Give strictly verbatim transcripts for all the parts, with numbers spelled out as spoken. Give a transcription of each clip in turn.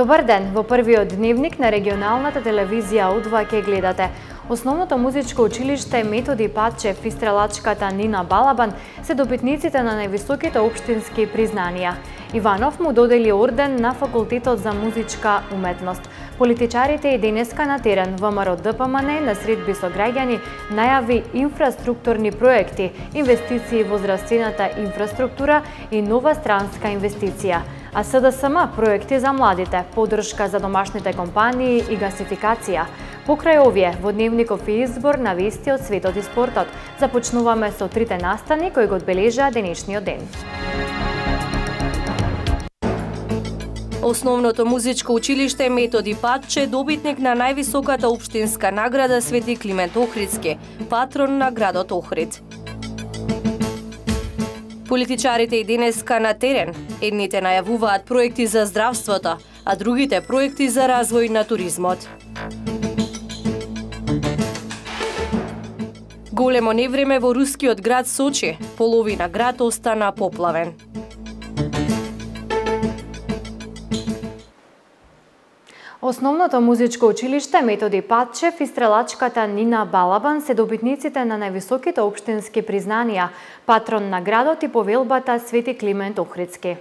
Добар ден, во првиот дневник на регионалната телевизија У два ќе гледате. Основното музичко училиште Методи Патчев и стрелачката Нина Балабан се добитниците на највисоките општински признанија. Иванов му додели орден на Факултетот за музичка уметност. Политичарите и денеска на терен ВМРО ДПМН на средби со граѓани најави инфраструктурни проекти, инвестиции во здравствената инфраструктура и нова странска инвестиција. А СДСМ проекти за младите, поддршка за домашните компании и гасификација. Покрај овие, во дневников и избор на вести од светот и спортот, започнуваме со трите настани кои го одбележаа денешниот ден. Основното музичко училиште Методи Патче добитник на највисоката општинска награда Свети Климент Охридски, патрон на градот Охрид. Политичарите и денеска на терен. Едните најавуваат проекти за здравството, а другите проекти за развој на туризмот. Големо невреме во рускиот град Сочи, половина град остана поплавен. Основното музичко училиште Методи Патчев и стрелачката Нина Балабан се добитниците на највисоките општински признанија, патрон на градот и повелбата Свети Климент Охридски.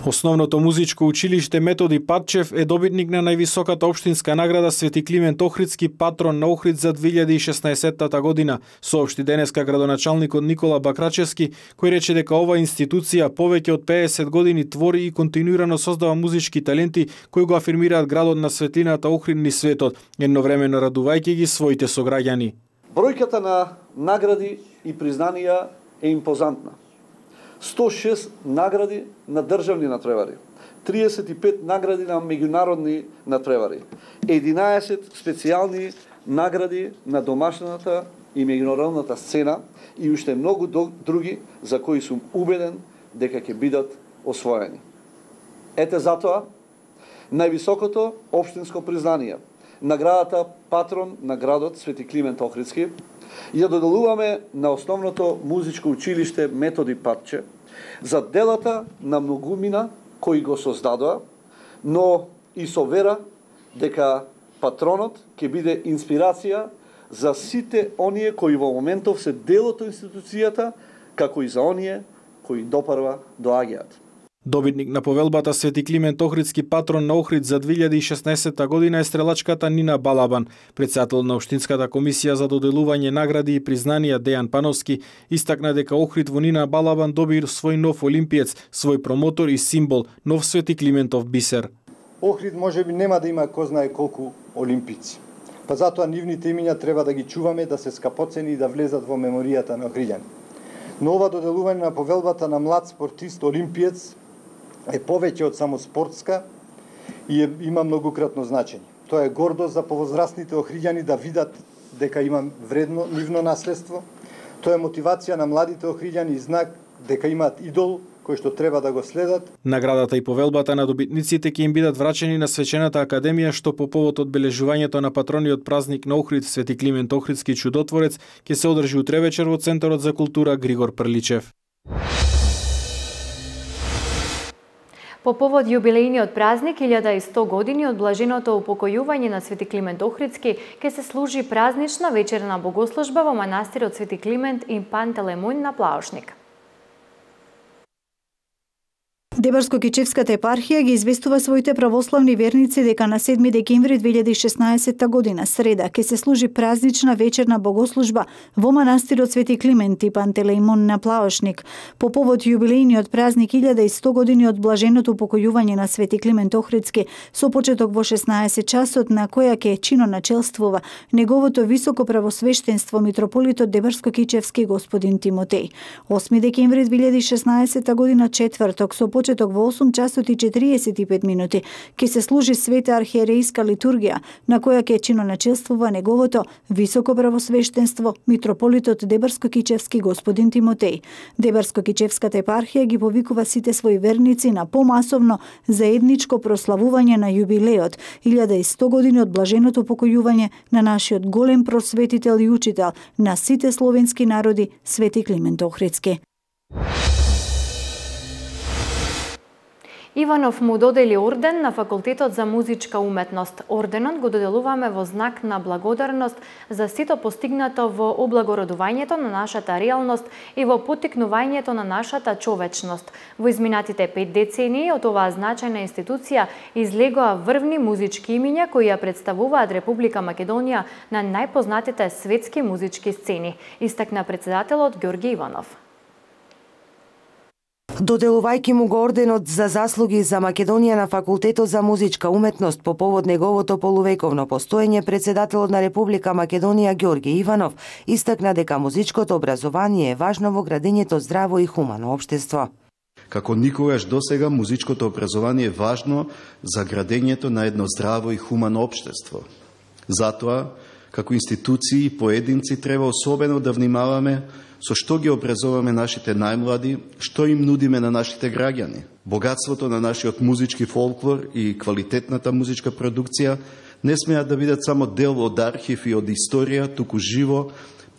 Основното музичко училиште Методи Патчев е добитник на највисоката општинска награда Свети Климент Охридски, патрон на Охрид за две илјади и шеснаесетта година, соопшти денеска градоначалникот Никола Бакрачевски, кој рече дека оваа институција повеќе од педесет години твори и континуирано создава музички таленти кои го афирмираат градот на светлината Охрид низ светот, едновремено радувајќи ги своите сограѓани. Бројката на награди и признанија е импозантна. сто и шест награди на државни натпревари, триесет и пет награди на меѓународни натпревари, единаесет специјални награди на домашната и меѓународната сцена и уште многу други за кои сум убеден дека ќе бидат освоени. Ете затоа, највисокото општинско признание, наградата патрон на градот Свети Климент Охридски, ја доделуваме на основното музичко училиште Методи Патче за делата на многумина кои го создадоа, но и со вера дека патронот ќе биде инспирација за сите оние кои во моментов се дел од институцијата, како и за оние кои допарва доаѓаат. Добитник на повелбата Свети Климент Охридски, патрон на Охрид за две илјади и шеснаесетта година е стрелачката Нина Балабан. Председател на Општинската комисија за доделување награди и признанија Дејан Пановски истакна дека Охрид во Нина Балабан доби свој нов олимпиец, свој промотор и символ, нов Свети Климентов бисер. Охрид можеби нема да има кој знае колку олимпици. Па затоа нивните имиња треба да ги чуваме, да се скапоцени и да влезат во меморијата на охриѓани. Но ова доделување на повелбата на млад спортист олимпиец е повеќе од само спортска и е, има многократно значење. Тоа е гордост за повозрастните охриѓани да видат дека има вредно нивно наследство. Тоа е мотивација на младите охриѓани и знак дека имаат идол кој што треба да го следат. Наградата и повелбата на добитниците ќе им бидат врачени на свечената академија, што по повод одбележувањето на патрониот празник на Охрид Свети Климент Охридски чудотворец ќе се одржи утре вечер во Центарот за култура Григор Прличев. По повод јубилејниот празник илјада и сто години од блаженото упокојување на Свети Климент Охридски ќе се служи празнична вечерна богослужба во манастирот Свети Климент и Пантелеймон на Плаушник. Дебарско-Кичевската епархија ги известува своите православни верници дека на седми декември две илјади и шеснаесетта година, среда, ќе се служи празнична вечерна богослужба во манастирот Свети Климент и Пантелеймон на Плаушник. По повод јубилејниот празник илјада и сто години од блаженото упокојување на Свети Климент Охридски, со почеток во шеснаесет часот, на која ќе чиноначелствува неговото високо правосвештенство митрополитот Дебарско-Кичевски господин Тимотеј. осми декември две илјади и шеснаесетта година, четврток, со почеток во осум часот и четириесет и пет минути ќе се служи света архиерејска литургија, на која ќе чиноначелствува неговото високо правосвештенство митрополитот Дебарско-Кичевски господин Тимотеј. Дебарско-Кичевската епархија ги повикува сите своји верници на помасовно заедничко прославување на јубилеот илјада и сто години од блаженото упокојување на нашиот голем просветител и учител на сите словенски народи Свети Климент Охридски. Иванов му додели орден на Факултетот за музичка уметност. Орденот го доделуваме во знак на благодарност за сето постигнато во облагородувањето на нашата реалност и во поттикнувањето на нашата човечност. Во изминатите пет децении од оваа значајна институција излегоа врвни музички имиња кои ја представуваат Република Македонија на најпознатите светски музички сцени, истакна председателот Ѓорги Иванов. Доделувајќи му го орденот за заслуги за Македонија на Факултетот за музичка уметност по повод неговото полувековно постоење, председателот на Република Македонија Ѓорги Иванов истакна дека музичкото образование е важно во градењето здраво и хумано општество. Како никогаш досега, музичкото образование е важно за градењето на едно здраво и хумано општество. Затоа, како институции и поединци треба особено да внимаваме со што ги образуваме нашите најмлади, што им нудиме на нашите граѓани. Богатството на нашиот музички фолклор и квалитетната музичка продукција не смеат да бидат само дел од архив и од историја, туку живо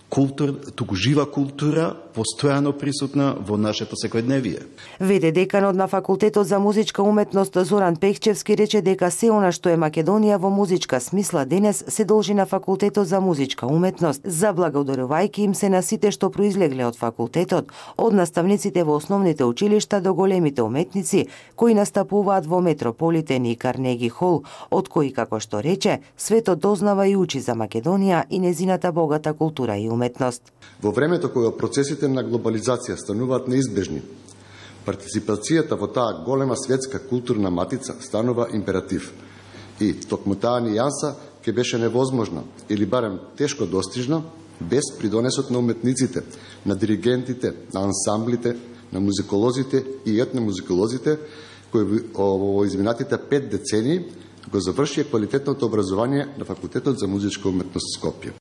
култур, туку жива култура постојано присутна во нашето секојдневие. Веде деканот на Факултетот за музичка уметност Зоран Пехчевски рече дека се она што е Македонија во музичка смисла денес се должи на Факултетот за музичка уметност, заблагодарувајќи им се на сите што произлегле од факултетот, од наставниците во основните училишта до големите уметници кои настапуваат во Метрополитен и Карнеги Хол, од кои, како што рече, светот дознава и учи за Македонија и незината богата култура и уметност. Во времето кога процесите на глобализација стануваат неизбежни, партиципацијата во таа голема светска културна матица станува императив. И токму таа нијанса ќе беше невозможна или барем тешко достижна без придонесот на уметниците, на диригентите, на ансамблите, на музиколозите и етномузиколозите кои во изминатите пет децении го завршија квалитетното образование на Факултетот за музичка уметност Скопје.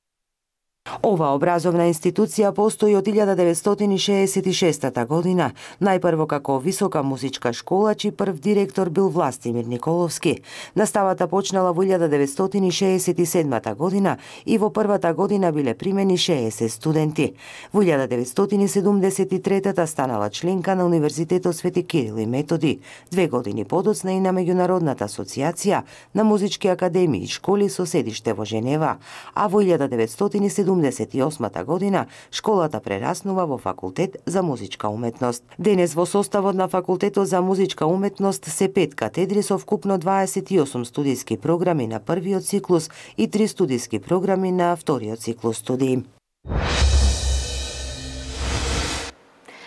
Ова образовна институција постои од илјада деветстотини шеесет и шеста година, најпрво како висока музичка школа, чиј прв директор бил Властимир Николовски. Наставата почнала во илјада деветстотини шеесет и седма година и во првата година биле примени шеесет студенти. Во илјада деветстотини седумдесет и трета станала членка на Универзитетот Свети Кирил и Методи, две години подоцна и на Меѓународната асоциација на музички академии и школи со седиште во Женева, а во илјада деветстотини седумдесет и осма година школата прераснува во Факултет за музичка уметност. Денес во составот на Факултетот за музичка уметност се пет катедри со вкупно дваесет и осум студиски програми на првиот циклус и три студиски програми на вториот циклус студии.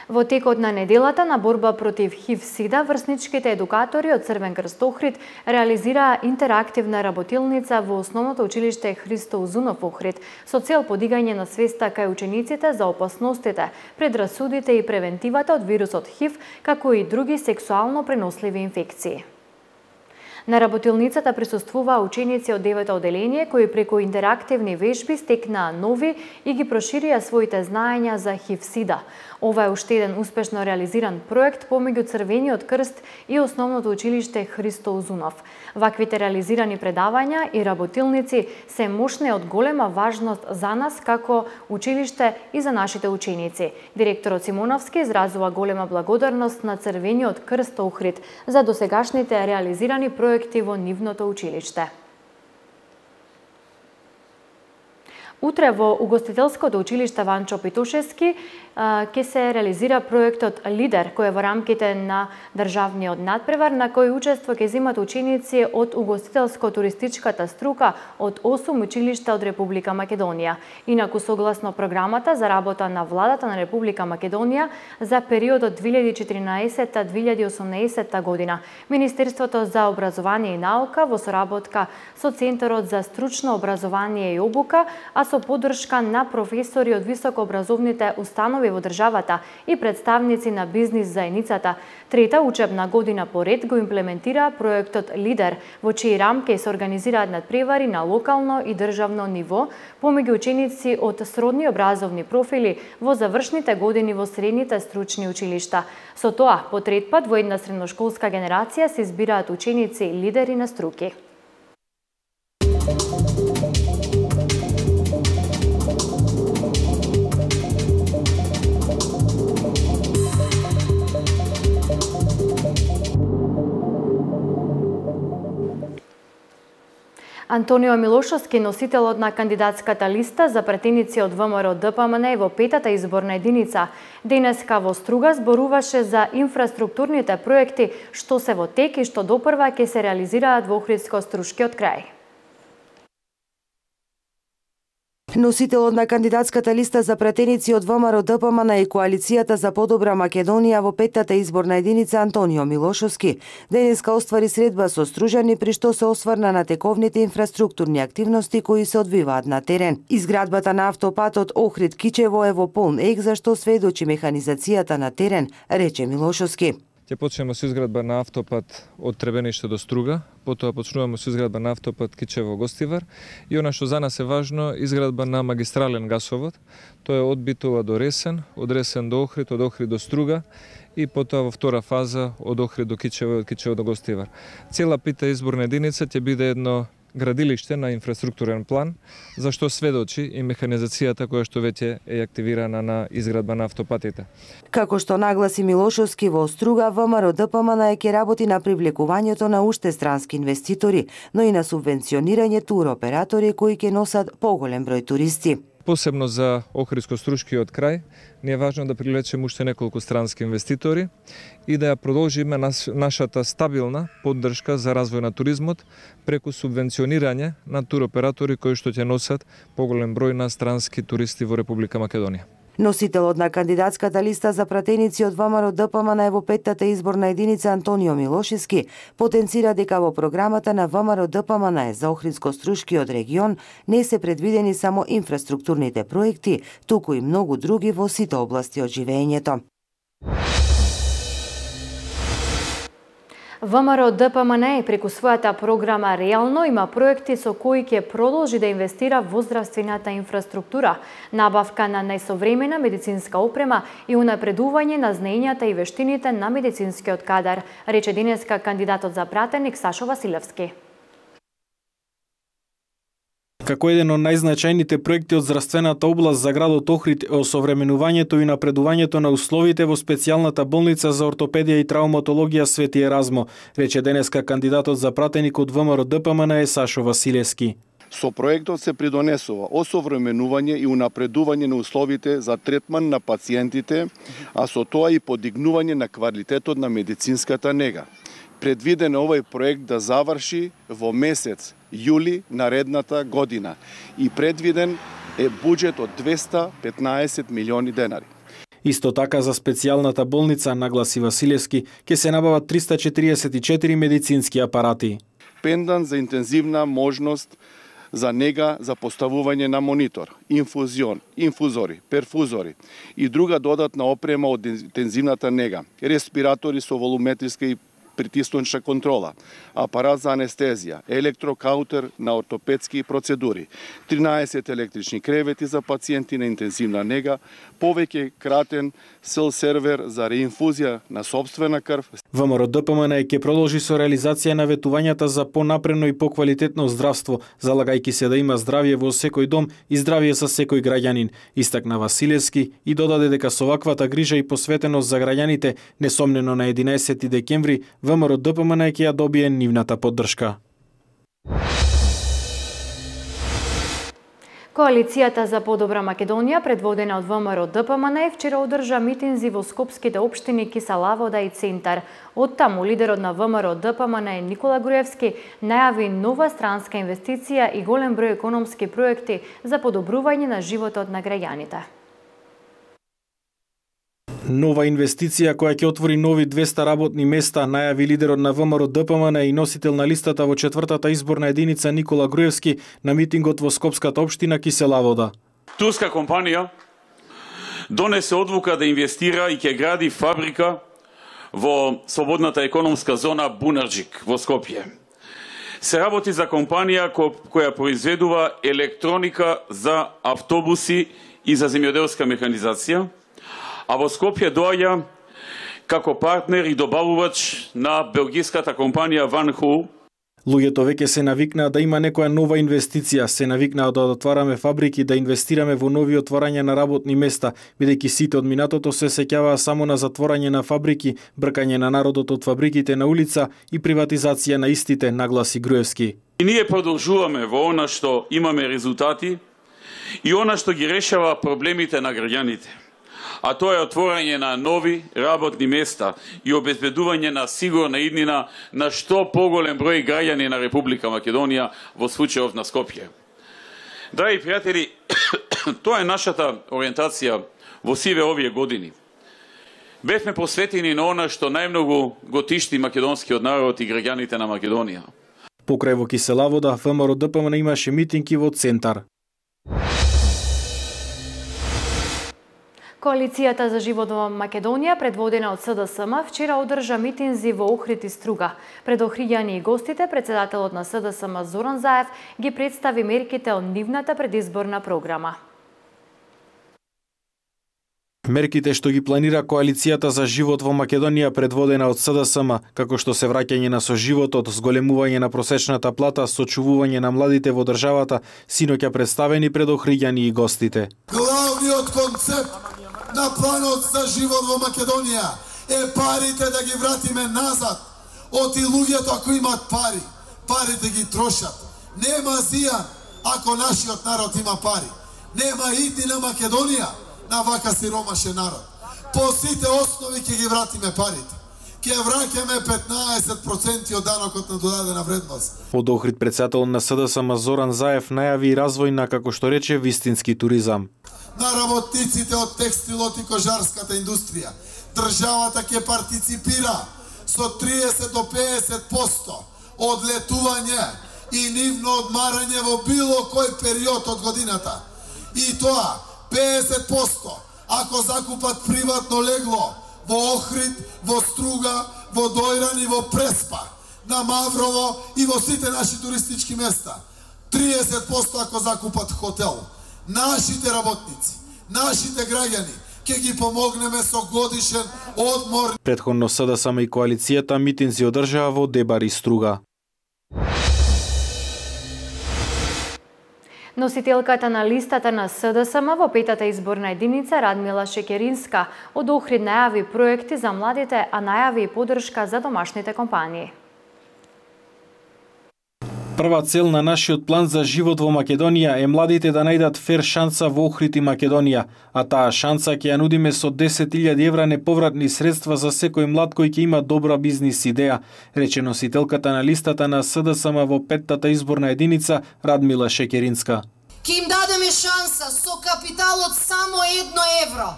Во текот на неделата на борба против ХИВ-СИДА, врсничките едукатори од Црвен крст Охрид реализираа интерактивна работилница во основното училиште Христо Узунов Охрид со цел подигање на свеста кај учениците за опасностите, предрасудите и превентивата од вирусот ХИВ, како и други сексуално преносливи инфекции. На работилницата присуствуваа ученици од девето оделение кои преку интерактивни вежби стекнаа нови и ги проширија своите знаења за ХИВ-СИДА. Ова е уште еден успешно реализиран проект помеѓу Црвениот крст и основното училиште Христо Узунов. Ваквите реализирани предавања и работилници се мощни од голема важност за нас како училиште и за нашите ученици. Директорот Симоновски изразува голема благодарност на Црвениот крст Охрид за досегашните реализирани проекти во нивното училиште. Утре во Угостителското училиште Ванчо Питушевски ќе се реализира проектот Лидер, кој е во рамките на државниот надпревар, на кој учество ќе земат ученици од угостителско-туристичката струка од осум училишта од Република Македонија. Инаку, согласно програмата за работа на владата на Република Македонија за периодот две илјади и четиринаесетта до две илјади и осумнаесетта година, Министерството за образование и наука во соработка со Центарот за стручно образование и обука, а со поддршка на професори од високообразовните установи во државата и представници на бизнис заедницата, трета учебна година поред го имплементира проектот Лидер, во чии рамки се организираат надпревари на локално и државно ниво помеѓу ученици од сродни образовни профили во завршните години во средните стручни училишта. Со тоа, по трет пат во една средношколска генерација се избираат ученици лидери на струки. Антонио Милошовски, носителот на кандидатската листа за пратеници од ВМРО Д П М Н во петата изборна единица, денеска во Струга зборуваше за инфраструктурните проекти што се во тек и што допрва ќе се реализираат во Охридско-Струшкиот крај. Носителот на кандидатската листа за пратеници од ВМРО Д П М Н и Коалицијата за подобра Македонија во петтата изборна единица Антонио Милошовски денеска оствари средба со стружани при што се осврна на тековните инфраструктурни активности кои се одвиваат на терен. Изградбата на автопатот Охрид-Кичево е во полн ек за што сведочи механизацијата на терен, рече Милошовски. Ќе почнеме со изградба на автопат од Требениште до Струга, потоа почнуваме со изградба на автопат Кичево-Гостивар и она што за нас е важно, изградба на магистрален гасовод. Тоа е од Битола до Ресен, од Ресен до Охрид, од Охрид до Струга и потоа во втора фаза од Охрид до Кичево и од Кичево до Гостивар. Цела пета изборна единица ќе биде едно градилиште на инфраструктурен план, за што сведочи и механизацијата која што веќе е активирана на изградба на автопатите. Како што нагласи Милошовски, во Струга ВМРО Д П М Н ќе работи на привлекувањето на уште странски инвеститори, но и на субвенционирање туроператори кои ќе носат поголем број туристи. Посебно за Охридско-Струшкиот крај, ни е важно да привлечеме уште неколку странски инвеститори и да ја продолжиме нашата стабилна поддршка за развој на туризмот преку субвенционирање на туроператори кои што ќе носат поголем број на странски туристи во Република Македонија. Носителот на кандидатската листа за пратеници од ВМРО Д П М Н во петтата изборна единица Антонио Милошевски потенцира дека во програмата на ВМРО Д П М Н за Охридско-Струшкиот регион не се предвидени само инфраструктурните проекти, туку и многу други во сите области од живеењето. ВМРО Д П М Н преку својата програма Реално има проекти со кои ќе продолжи да инвестира во здравствената инфраструктура, набавка на најсовремена медицинска опрема и унапредување на знаењата и вештините на медицинскиот кадар, рече денеска кандидатот за пратеник Сашо Василевски. Како еден од најзначајните проекти од здравствената област за градот Охрид е осовременувањето и напредувањето на условите во специјалната болница за ортопедија и травматологија Свети Еразмо, рече денеска кандидатот за пратеник од ВМРО Д П М Н Сашо Василевски. Со проектот се придонесува осовременување и унапредување на условите за третман на пациентите, а со тоа и подигнување на квалитетот на медицинската нега. Предвиден е овој проект да заврши во месец јули наредната година и предвиден е буџет од двесте петнаесет милиони денари. Исто така за специјалната болница, нагласи Василевски, ќе се набават триста четириесет и четири медицински апарати. Пендан за интензивна можност за нега за поставување на монитор, инфузион, инфузори, перфузори и друга додатна опрема од интензивната нега, респиратори со волуметриска и притисночна контрола, апарат за анестезија, електрокаутер на ортопедски процедури, тринаесет електрични кревети за пациенти на интензивна нега, повеќе кратен сел сервер за реинфузија на сопствена крв. ВМРО Д П М Н ќе продолжи со реализација на ветувањата за понапредно и поквалитетно здравство, залагајќи се да има здравје во секој дом и здравје за секој граѓанин, истакна Василевски и додаде дека со ваквата грижа и посветеност за граѓаните, несомнено на единаесети декември, ВМРО Д П М Н ќе ја добие нивната поддршка. Коалицијата за подобра Македонија, предводена од ВМРО Д П М Н, вчера одржа митинзи во скопските општини Киселавода и Центар. Од таму лидерот на ВМРО Д П М Н Никола Груевски најави нова странска инвестиција и голем број економски проекти за подобрување на животот на граѓаните. Нова инвестиција која ќе отвори нови двесте работни места, најави лидерот на ВМРО Д П М Н и носител на листата во четвртата изборна единица Никола Груевски на митингот во скопската општина Киселавода. Турска компанија донесе одлука да инвестира и ќе гради фабрика во слободната економска зона Бунарџик во Скопје. Се работи за компанија која произведува електроника за автобуси и за земјоделска механизација, а во Скопје доаѓа како партнер и добавувач на белгиската компанија Ван Хул. Луѓето веќе се навикнаа да има некоја нова инвестиција, се навикнаа да отвараме фабрики, да инвестираме во нови отворања на работни места, бидејќи сите од минатото се сеќаваа само на затворање на фабрики, бркање на народот од фабриките на улица и приватизација на истите, нагласи Груевски. И ние продолжуваме во она што имаме резултати и она што ги решава проблемите на граѓаните. А тоа е отворање на нови работни места и обезбедување на сигурна иднина на што поголем број граѓани на Република Македонија, во случајов на Скопје. Драги пријатели, тоа е нашата ориентација во сиве овие години. Бевме посветени на она што најмногу го тишти македонскиот народ и граѓаните на Македонија. Покрај во Киселавода, ВМРО Д П М Н имаше митинги во Центар. Коалицијата за живот во Македонија, предводена од С Д С М, вчера одржа митинзи во Охрид и Струга. Пред Охриѓани и гостите, председателот на С Д С М Зоран Заев ги представи мерките од нивната предизборна програма. Мерките што ги планира Коалицијата за живот во Македонија, предводена од С Д С М, како што се враќање на соживотот, зголемување на просечната плата, сочувување на младите во државата, синоќа представени пред Охриѓани и гостите. Главниот концепт на планот за живот во Македонија е парите да ги вратиме назад. Оти луѓето ако имаат пари, парите ги трошат. Нема зијан ако нашиот народ има пари. Нема идни на Македонија на вака сиромашен народ. По сите основи ќе ги вратиме парите. Ќе враќаме петнаесет проценти од данокот на додадена вредност. Од Охрид председател на С Д С М Зоран Заев најави развој на, како што рече, вистински туризам. На работниците од текстилот и кожарската индустрија. Државата ќе партиципира со триесет до пеесет проценти од летување и нивно одмарање во било кој период од годината. И тоа пеесет проценти ако закупат приватно легло во Охрид, во Струга, во Дојран и во Преспа, на Маврово и во сите наши туристички места. триесет проценти ако закупат хотел. Нашите работници, нашите граѓани, ќе ги помогнеме со годишен одмор. Претходно С Д С М и коалицијата митинзи одржаа во Дебар и Струга. Носителката на листата на С Д С М во петата изборна единица Радмила Шекеринска од Охрид најави проекти за младите, а најави и поддршка за домашните компании. Прва цел на нашиот план за живот во Македонија е младите да најдат фер шанса во Охрид и Македонија, а таа шанса ќе ја нудиме со десет илјади евра неповратни средства за секој млад кој ќе има добра бизнис идеја, рече носителката на листата на С Д С М во петтата изборна единица Радмила Шекеринска. Ќе им дадеме шанса со капитал од само едно евро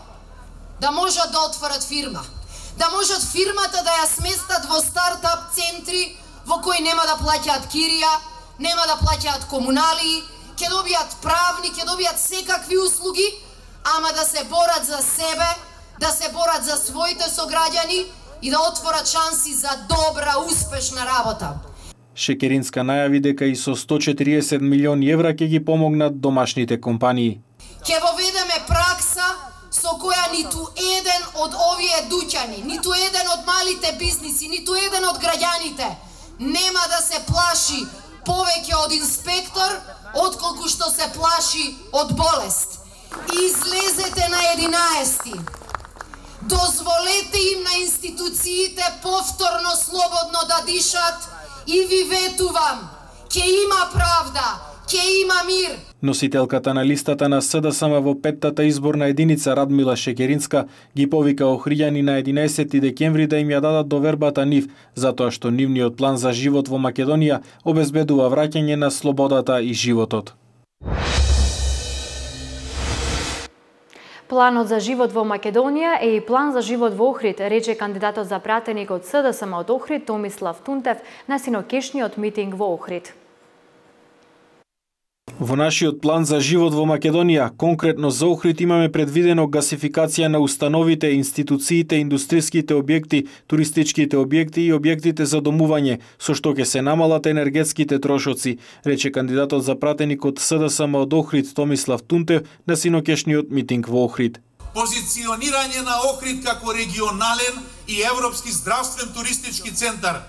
да можат да отворат фирма, да можат фирмата да ја сместат во стартап центри во кои нема да плаќаат кирија, нема да плаќаат комунали, ќе добијат правни, ќе добијат секакви услуги, ама да се борат за себе, да се борат за своите сограѓани и да отворат шанси за добра, успешна работа. Шекеринска најави дека и со сто четириесет милиони евра ќе ги помогнат домашните компании. Ќе воведеме пракса со која ниту еден од овие дуќани, ниту еден од малите бизниси, ниту еден од граѓаните нема да се плаши повеќе од инспектор, отколку што се плаши од болест. Излезете на единаесети. Дозволете им на институциите повторно слободно да дишат и ви ветувам, ќе има правда, ќе има мир. Носителката на листата на С Д С М во петтата изборна единица Радмила Шекеринска ги повика Охриѓани на единаесети декември да им ја дадат довербата нив, затоа што нивниот план за живот во Македонија обезбедува враќање на слободата и животот. Планот за живот во Македонија е и план за живот во Охрид, рече кандидатот за пратеник од С Д С М од Охрид Томислав Тунтев на синокешниот митинг во Охрид. Во нашиот план за живот во Македонија, конкретно за Охрид, имаме предвидено гасификација на установите, институциите, индустриските објекти, туристичките објекти и објектите за домување, со што ќе се намалат енергетските трошоци, рече кандидатот за пратеник од С Д С М од Охрид Томислав Тунтев на синокешниот митинг во Охрид. Позиционирање на Охрид како регионален и европски здравствен туристички центар,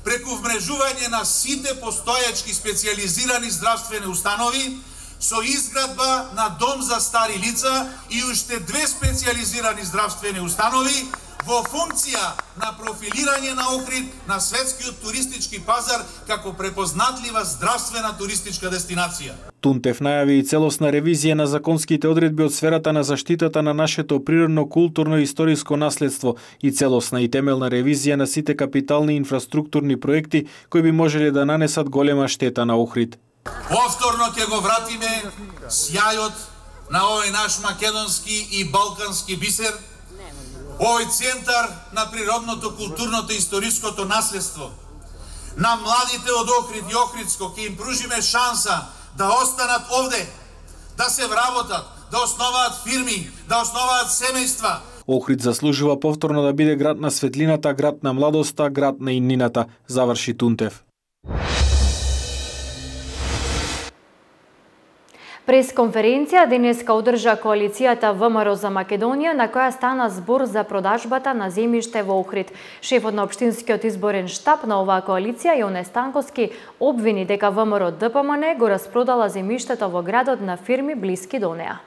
преку вмрежување на сите постојачки специјализирани здравствени установи, со изградба на дом за стари лица и уште две специјализирани здравствени установи во функција на профилирање на Охрид на светскиот туристички пазар како препознатлива здравствена туристичка дестинација. Тунтев најави и целосна ревизија на законските одредби од сферата на заштитата на нашето природно, културно и историско наследство и целосна и темелна ревизија на сите капитални инфраструктурни проекти кои би можеле да нанесат голема штета на Охрид. Повторно ќе го вратиме сјајот на овој наш македонски и балкански бисер, овој центар на природното, културното и историското наследство. На младите од Охрид и Охридско ќе им пружиме шанса да останат овде, да се вработат, да основаат фирми, да основаат семејства. Охрид заслужува повторно да биде град на светлината, град на младоста, град на иднината, заврши Тунтев. Пресконференција денеска одржа коалицијата ВМРО за Македонија, на која стана збор за продажбата на земјиште во Охрид. Шефот на општинскиот изборен штаб на оваа коалиција, Јоне Станковски, обвини дека ВМРО ДПМН го распродала земјиштето во градот на фирми блиски до неа.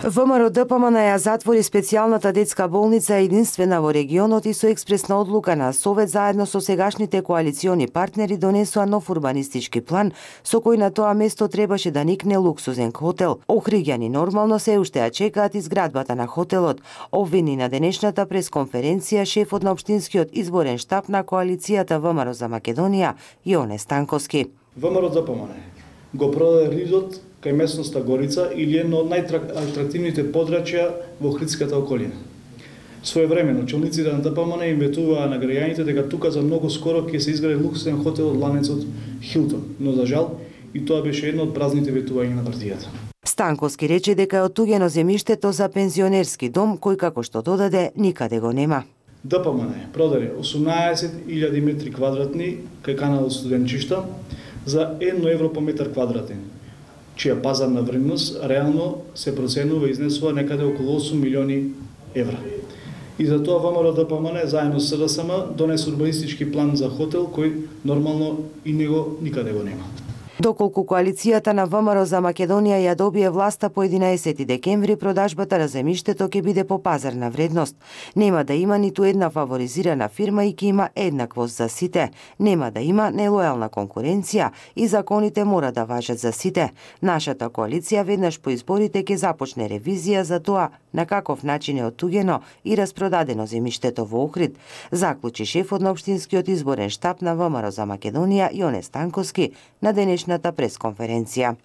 ВМРО ДПМН ја затвори специјалната детска болница единствена во регионот и со експресна одлука на Совет заедно со сегашните коалициони партнери донесоа нов урбанистички план со кој на тоа место требаше да никне луксузен хотел. Охриѓани нормално се уште ја чекаат изградбата на хотелот. Обвини на денешната пресконференција шефот на општинскиот изборен штаб на коалицијата ВМРО за Македонија, Јоне Станковски. ВМРО ДПМН го продаде ридот кај местноста Горица или едно од најатрактивните подрачја во Охридската околина. Своевремено, челниците на ДПМН им ветуваа на граѓаните дека тука за многу скоро ќе се изгради луксузен хотел од ланецот Хилтон, но за жал и тоа беше едно од празните ветувања на партијата. Станковски рече дека е оттуѓено земјиштето за пензионерски дом кој како што додаде никаде го нема. ДПМН продаде осумнаесет илјади метри квадратни кај каналот Студенчишта за едно евро по метар квадратен, чија пазарна вредност реално се проценува и изнесува некаде околу осум милиони евра. И за тоа ВМРО ДПМН заедно со СДСМ донесе урбанистички план за хотел кој нормално и него никаде го нема. Доколку коалицијата на ВМРО за Македонија ја добие власта по единаесети декември, продажбата на земјиштето ќе биде по пазарна вредност. Нема да има ниту една фаворизирана фирма и ќе има еднаквост за сите. Нема да има нелојална конкуренција и законите мора да важат за сите. Нашата коалиција веднаш по изборите ќе започне ревизија за тоа на каков начин е оттуѓено и распродадено земјиштето во Охрид, заклучи шефот на општинскиот изборен штаб на ВМРО за Македонија, Јоне Станковски, на денешната пресконференција.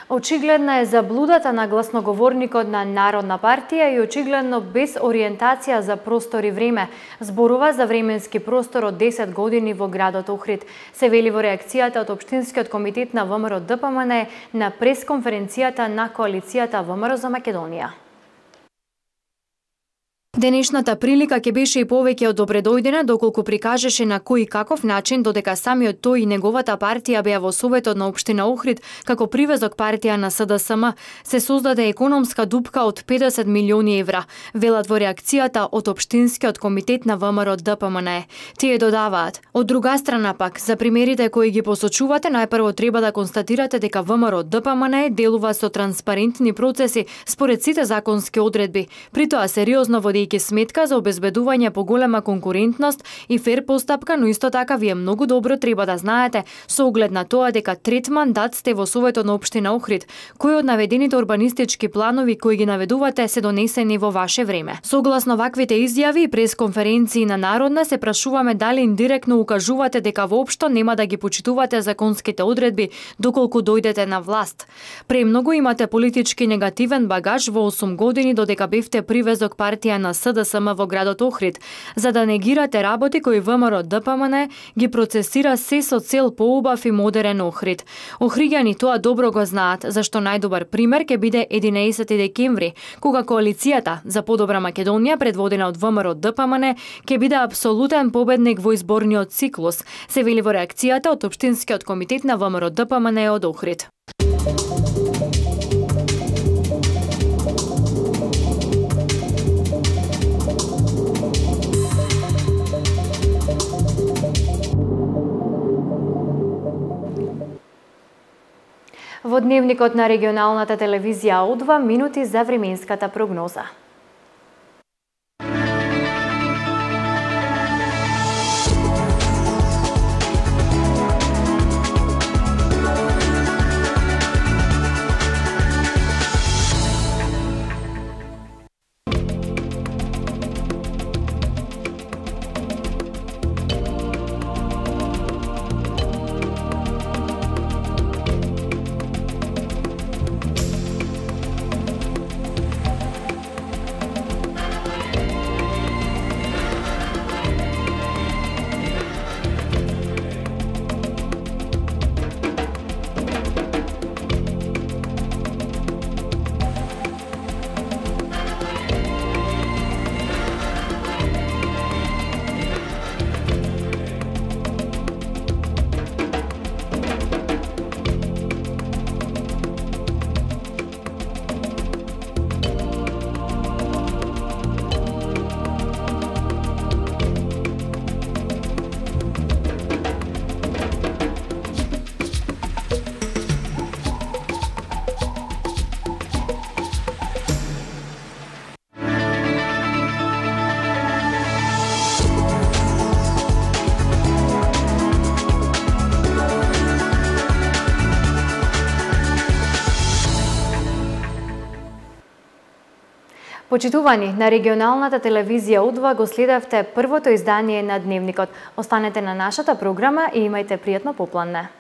Очигледна е заблудата на гласноговорникот на Народна партија и очигледно без ориентација за простор и време. Зборува за временски простор од десет години во градот Охрид. Се вели во реакцијата од Општинскиот комитет на ВМРО ДПМН на пресконференцијата на коалицијата ВМРО за Македонија. Денешната прилика ќе беше и повеќе од добредојдена, доколку прикажеше на кој и каков начин, додека самиот тој и неговата партија беа во Советот на Општина Охрид, како привезок партија на СДСМ, се создаде економска дупка од педесет милиони евра, велат во реакцијата од Општинскиот комитет на ВМРО ДПМН. Тие додаваат: од друга страна пак, за примерите кои ги посочувате, најпрво треба да констатирате дека ВМРО ДПМН делува со транспарентни процеси според сите законски одредби, при тоа сериозно води и сметка за обезбедување поголема конкурентност и фер постапка, но исто така вие многу добро треба да знаете со оглед на тоа дека трет мандат сте во Советот на Општина Охрид, кои од наведените урбанистички планови кои ги наведувате се донесени во ваше време. Согласно ваквите изјави и пресконференции на Народна се прашуваме дали индиректно укажувате дека воопшто нема да ги почитувате законските одредби доколку дојдете на власт. Премногу имате политички негативен багаж во осум години додека бевте привезок партија на СДСМ во градот Охрид, за да негирате работи кои ВМРО ДПМН ги процесира се со цел поубав и модерен Охрид. Охриѓани тоа добро го знаат, зашто најдобар пример ќе биде единаесети декември, кога коалицијата за подобра Македонија, предводена од ВМРО ДПМН, ќе биде апсолутен победник во изборниот циклус, се вели во реакцијата од Општинскиот комитет на ВМРО ДПМН од Охрид. Во дневникот на регионалната телевизија У два минути за временската прогноза. Почитувани, на регионалната телевизија У два го следевте првото издание на Дневникот. Останете на нашата програма и имајте пријатно попладне.